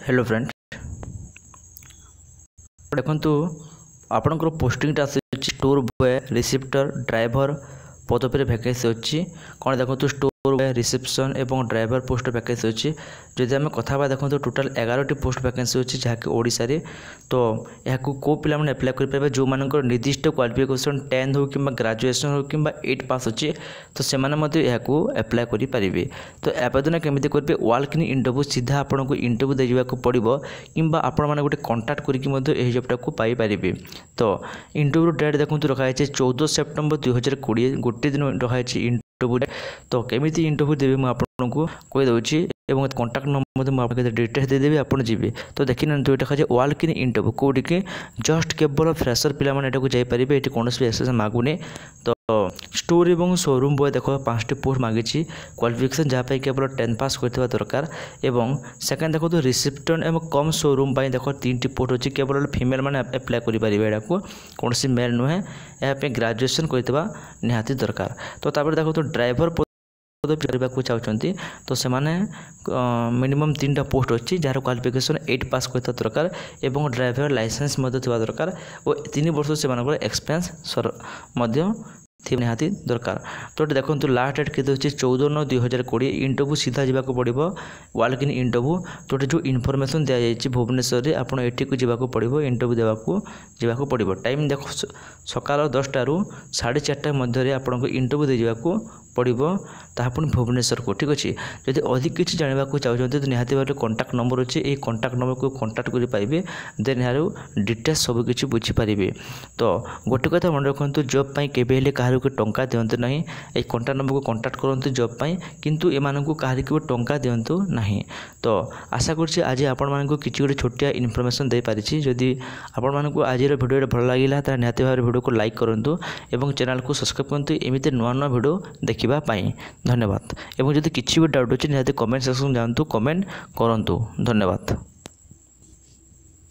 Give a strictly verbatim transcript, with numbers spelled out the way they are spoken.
hello friend ଦେଖନ୍ତୁ ଆପଣଙ୍କର ପୋଷ୍ଟିଂଟା ଆସୁଛି ଷ୍ଟୋର୍ ବୟ ରିସିପ୍ଟର ଡ୍ରାଇଭର ପଦବୀରେ ଭ୍ୟାକେନ୍ସି ଅଛି କ'ଣ ଦେଖନ୍ତୁ ଷ୍ଟୋର୍ ବୟ ରିସେପସନ୍ ଏବଂ ଡ୍ରାଇଭର ପୋଷ୍ଟ ଭ୍ୟାକେନ୍ସି ଅଛି ଯଦି ଆମେ କଥା ହେବା ଦେଖନ୍ତୁ ଟୋଟାଲ୍ ଏଗାରଟି ପୋଷ୍ଟ ଭ୍ୟାକେନ୍ସି ଅଛି ଯାହାକି ଓଡ଼ିଶାରେ ତ ଏହାକୁ କେଉଁ ପିଲାମାନେ ଆପ୍ଲାଏ କରିପାରିବେ ଯେଉଁମାନଙ୍କର ନିର୍ଦ୍ଦିଷ୍ଟ କ୍ୱାଲିଫିକେସନ୍ ଟେନ୍ଥ ହେଉ କିମ୍ବା ଗ୍ରାଜୁଏସନ୍ ହେଉ କିମ୍ବା ଏଇଟ୍ ପାସ୍ ଅଛି ତ ସେମାନେ ମଧ୍ୟ ଏହାକୁ ଆପ୍ଲାଏ କରିପାରିବେ ତ ଆବେଦନ କେମିତି କରିବେ ୱାକ୍ ଇନ୍ ଇଣ୍ଟରଭ୍ୟୁ ସିଧା ଆପଣଙ୍କୁ ଇଣ୍ଟରଭ୍ୟୁ ଦେଇଯିବାକୁ ପଡ଼ିବ କିମ୍ବା ଆପଣମାନେ ଗୋଟେ କଣ୍ଟାକ୍ଟ କରିକି ମଧ୍ୟ ଏହି ଜବ୍ଟାକୁ ପାଇପାରିବେ ତ ଇଣ୍ଟରଭ୍ୟୁ ଡେଟ୍ ଦେଖନ୍ତୁ ରଖାଯାଇଛି ଚଉଦ ସେପ୍ଟେମ୍ବର ଦୁଇହଜାର କୋଡ଼ିଏ ଗୋଟେ ଦିନ ରଖାଯାଇଛି ଇଣ୍ଟରଭ୍ୟୁ ତ କେମିତି ଇଣ୍ଟରଭ୍ୟୁ ଦେବେ ମୁଁ ଆପଣଙ୍କୁ କହିଦେଉଛି ଏବଂ କଣ୍ଟାକ୍ଟ ନମ୍ବର ମଧ୍ୟ ମୁଁ ଆପଣଙ୍କୁ ଡିଟେଲ୍ସ ଦେଇଦେବି ଆପଣ ଯିବେ ତ ଦେଖିନିଅନ୍ତୁ ଏଇଟା ଦେଖାଯାଏ ୱାକ୍ ଇନ୍ ଇଣ୍ଟରଭ୍ୟୁ କେଉଁଠିକି ଜଷ୍ଟ କେବଳ ଫ୍ରେସର ପିଲାମାନେ ଏଠାକୁ ଯାଇପାରିବେ ଏଠି କୌଣସି ବି ଏକ୍ସପିରିଏନ୍ସ ମାଗୁନି ତ ଷ୍ଟୋର୍ ଏବଂ ସୋରୁମ୍ ବୟ ଦେଖ ପାଞ୍ଚଟି ପୋଷ୍ଟ ମାଗିଛି କ୍ୱାଲିଫିକେସନ୍ ଯାହା ପାଇଁ କେବଳ ଟେନ୍ଥ ପାସ୍ କରିଥିବା ଦରକାର ଏବଂ ସେକେଣ୍ଡ ଦେଖନ୍ତୁ ରିସିପ୍ଟନ୍ ଏବଂ କମ୍ ସୋରୁମ୍ ପାଇଁ ଦେଖ ତିନିଟି ପୋଷ୍ଟ ଅଛି କେବଳ ଫିମେଲ୍ ମାନେ ଆପ୍ଲାଏ କରିପାରିବେ ଏଟାକୁ କୌଣସି ମେଲ୍ ନୁହେଁ ଏହା ପାଇଁ ଗ୍ରାଜୁଏସନ୍ କରିଥିବା ନିହାତି ଦରକାର ତ ତାପରେ ଦେଖନ୍ତୁ ଡ୍ରାଇଭର ପଦବୀ କରିବାକୁ ଚାହୁଁଛନ୍ତି ତ ସେମାନେ ମିନିମମ୍ ତିନିଟା ପୋଷ୍ଟ ଅଛି ଯାହାର କ୍ୱାଲିଫିକେସନ୍ ଏଇଟ୍ ପାସ୍ କରିଥିବା ଦରକାର ଏବଂ ଡ୍ରାଇଭର ଲାଇସେନ୍ସ ମଧ୍ୟ ଥିବା ଦରକାର ଓ ତିନି ବର୍ଷ ସେମାନଙ୍କର ଏକ୍ସପିରିଏନ୍ସ ମଧ୍ୟ ଥିବା ନିହାତି ଦରକାର ତ ଏଠି ଦେଖନ୍ତୁ ଲାଷ୍ଟ ଡେଟ୍ କେତେ ଅଛି ଚଉଦ ନଅ ଦୁଇ ହଜାର କୋଡ଼ିଏ ଇଣ୍ଟରଭ୍ୟୁ ସିଧା ଯିବାକୁ ପଡ଼ିବ ୱାକ୍ ଇନ୍ ଇଣ୍ଟରଭ୍ୟୁ ତ ଏଠି ଯେଉଁ ଇନଫର୍ମେସନ୍ ଦିଆଯାଇଛି ଭୁବନେଶ୍ୱରରେ ଆପଣ ଏଠିକୁ ଯିବାକୁ ପଡ଼ିବ ଇଣ୍ଟରଭ୍ୟୁ ଦେବାକୁ ଯିବାକୁ ପଡ଼ିବ ଟାଇମ୍ ଦେଖ ସକାଳ ଦଶଟାରୁ ସାଢ଼େ ଚାରିଟା ମଧ୍ୟରେ ଆପଣଙ୍କୁ ଇଣ୍ଟରଭ୍ୟୁ ଦେଇଯିବାକୁ ପଡ଼ିବ ତାହା ପୁଣି ଭୁବନେଶ୍ୱରକୁ ଠିକ୍ ଅଛି ଯଦି ଅଧିକ କିଛି ଜାଣିବାକୁ ଚାହୁଁଛନ୍ତି ତ ନିହାତି ଭାବରେ କଣ୍ଟାକ୍ଟ ନମ୍ବର ଅଛି ଏହି କଣ୍ଟାକ୍ଟ ନମ୍ବରକୁ କଣ୍ଟାକ୍ଟ କରିପାରିବେ ଦେନ୍ ଏହାର ଡିଟେଲ୍ସ ସବୁକିଛି ବୁଝିପାରିବେ ତ ଗୋଟେ କଥା ମନେ ରଖନ୍ତୁ ଜବ୍ ପାଇଁ କେବେ ହେଲେ କାହାରିକୁ ଟଙ୍କା ଦିଅନ୍ତୁ ନାହିଁ ଏହି କଣ୍ଟାକ୍ଟ ନମ୍ବରକୁ କଣ୍ଟାକ୍ଟ କରନ୍ତୁ ଜବ୍ ପାଇଁ କିନ୍ତୁ ଏମାନଙ୍କୁ କାହାରିକୁ ଟଙ୍କା ଦିଅନ୍ତୁ ନାହିଁ ତ ଆଶା କରୁଛି ଆଜି ଆପଣମାନଙ୍କୁ କିଛି ଗୋଟେ ଛୋଟିଆ ଇନଫର୍ମେସନ୍ ଦେଇପାରିଛି ଯଦି ଆପଣମାନଙ୍କୁ ଆଜିର ଭିଡ଼ିଓଟା ଭଲ ଲାଗିଲା ତାହେଲେ ନିହାତି ଭାବରେ ଭିଡ଼ିଓକୁ ଲାଇକ୍ କରନ୍ତୁ ଏବଂ ଚ୍ୟାନେଲକୁ ସବସ୍କ୍ରାଇବ୍ କରନ୍ତୁ ଏମିତି ନୂଆ ନୂଆ ଭିଡ଼ିଓ ଦେଖିବା ପାଇଁ ଧନ୍ୟବାଦ ଏବଂ ଯଦି କିଛି ବି ଡାଉଟ୍ ଅଛି ନିହାତି କମେଣ୍ଟ ସେକ୍ସନ୍ ଯାଆନ୍ତୁ କମେଣ୍ଟ କରନ୍ତୁ ଧନ୍ୟବାଦ